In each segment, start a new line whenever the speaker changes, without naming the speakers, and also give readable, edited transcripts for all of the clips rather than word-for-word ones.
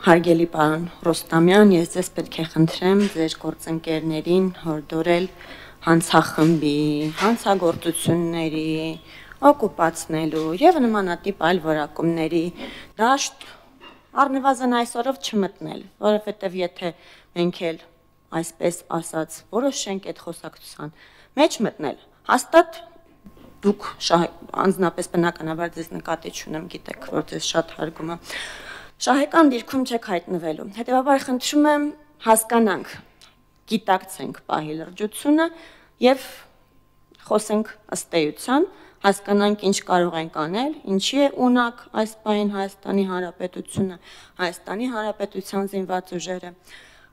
Հարգելի պարոն Ռոստամյան, ես ձեզ պետք է խնդրեմ ձեր գործընկերներին հորդորել հանցախմբի, հանցագործությունների, օկուպացնելու եւ նմանատիպ այլ որակումների դաշտ առնվազն այսօրով չմտնել, որովհետեւ եթե մենք էլ այսպես ասած որոշենք այդ խոսակցության մեջ մտնել, հաստատ դուք անձնապես բնականաբար ձեզ նկատի չունեմ, գիտեք, որ ձեզ շատ հարգում եմ, շահեկան դիրքում չեք հայտնվելու, հետևաբար խնդրում եմ հասկանանք, գիտակցենք պահի լրջությունը եւ խոսենք ըստ էության, հասկանանք ինչ կարող ենք անել, ինչի է ունակ այս պահին Հայաստանի Հանրապետությունը, Հայաստանի Հանրապետության զինված ուժերը,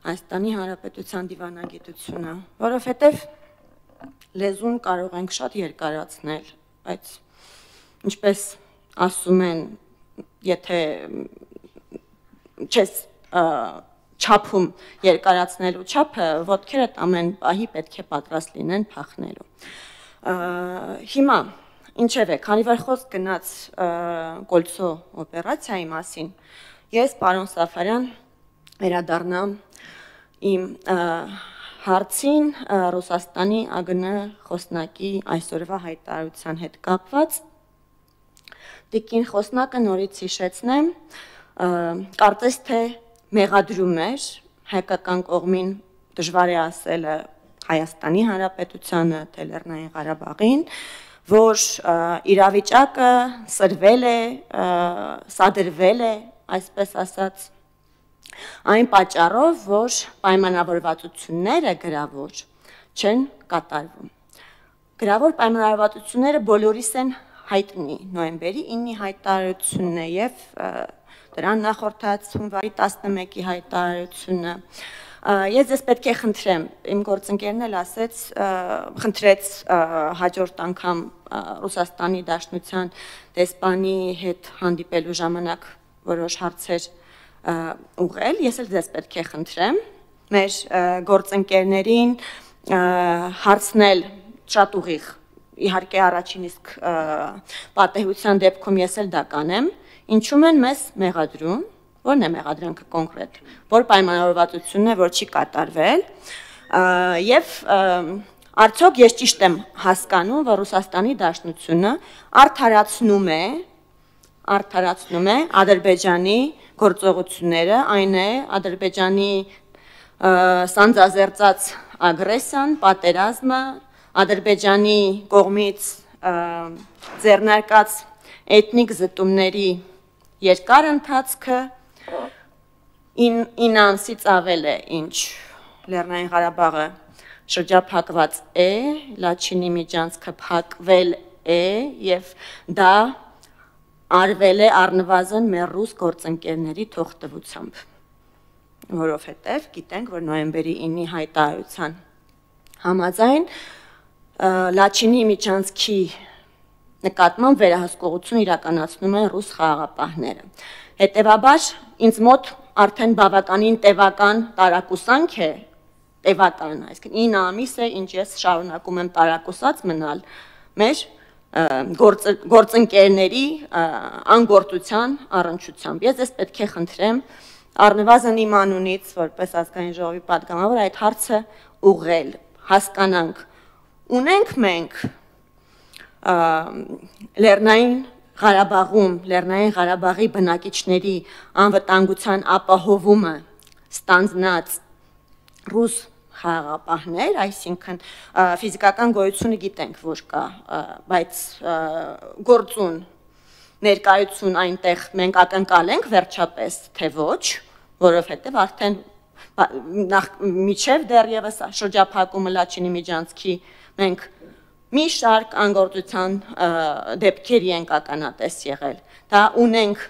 Հայաստանի Հանրապետության դիվանագիտությունը, որովհետեւ լեզուն կարող ենք շատ երկարացնել, բայց ինչպես ասում են, եթե չես չափում երկարացնելու չափը, ոտքերդ ամեն պահի պետք է պատրաստ լինեն փախնելու։ Հիմա ինչևէ, քանի որ խոսք գնաց Կոլցո օպերացիայի մասին, ես պարոն Սաֆարյան վերադառնամ իմ հարցին Ռուսաստանի ԱԳՆ խոսնակի այսօրվա հայտարարության հետ կապված։ Տիկին խոսնակը նորից հիշեցնեմ, կարծես թե մեղադրում էր հայկական կողմին դժվար է ասելը Հայաստանի Հանրապետությանը, թե Լեռնային Ղարաբաղին, որ իրավիճակը սրվել է, սադրվել է, այսպես ասած, այն պատճառով, որ պայմանավորվածությունները գրավոր չեն կատարվում։ Գրավոր պայմանավորվածությունները բոլորիս են հայտնի, նոյեմբերի 9-ի հայտարարությունն է եւ դրան նախորդած հունվարի 11-ի հայտարարությունը։ Ես ձեզ պետք է խնդրեմ, իմ գործընկերն էլ ասեց, խնդրեց հաջորդ անգամ Ռուսաստանի Դաշնության դեսպանի հետ հանդիպելու ժամանակ որոշ հարցեր ուղղել, ես էլ ձեզ պետք է խնդրեմ մեր գործընկերներին հարցնել շատ ուղիղ, իհարկե առաջին իսկ պատեհության դեպքում ես էլ դա կանեմ, ինչու են մեզ մեղադրում, որն է մեղադրանքը կոնկրետ, որ պայմանավորվածությունն է, որ չի կատարվել, եւ արդյոք ես ճիշտ եմ հասկանում, որ Ռուսաստանի Դաշնությունը արդարացնում է Ադրբեջանի գործողությունները, այն է Ադրբեջանի սանձազերծած ագրեսիան, պատերազմը, Ադրբեջանի կողմից ձեռնարկած էթնիկ զտումների երկար ընթացքը 9 ամսից ավել է, ինչ Լեռնային Ղարաբաղը շրջափակված է, Լաչինի միջանցքը փակվել է եւ դա արվել է առնվազն մեր ռուս գործընկերների թողտվությամբ, որովհետեւ գիտենք, որ նոյեմբերի 9-ի հայտարարության համաձայն Լաչինի միջանցքի նկատմամբ վերահսկողություն իրականացնում են ռուս խաղաղապահները։ Հետևաբար ինձ մոտ արդեն բավականին տևական տարակուսանք է, այսինքն 9 ամիս է, ինչ ես շարունակում եմ տարակուսած մնալ մեր գործընկերների անգործության առնչությամբ։ Ես ձեզ պետք է խնդրեմ առնվազն իմ անունից, որպես ազգային ժողովի պատգամավոր, այդ հարցը ուղղել, հասկանանք, ունենք մենք Լեռնային Ղարաբաղում, Լեռնային Ղարաբաղի բնակիչների անվտանգության ապահովումը ստանձնած ռուս խաղաղապահներ, այսինքն ֆիզիկական գոյությունը գիտենք, որ կա, բայց գործուն ներկայություն այնտեղ մենք ակնկալենք վերջապես, թե ոչ, որովհետև արդեն միջև դեռևս շրջափակումը Լաչինի միջանցքի մենք մի շարք անգործության դեպքերի ենք ականատես եղել, դա ունենք,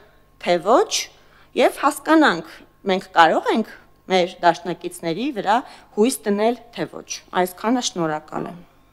թե ոչ, եւ հասկանանք, մենք կարող ենք մեր դաշնակիցների վրա հույս դնել, թե ոչ, այսքանը շնորհակալ եմ։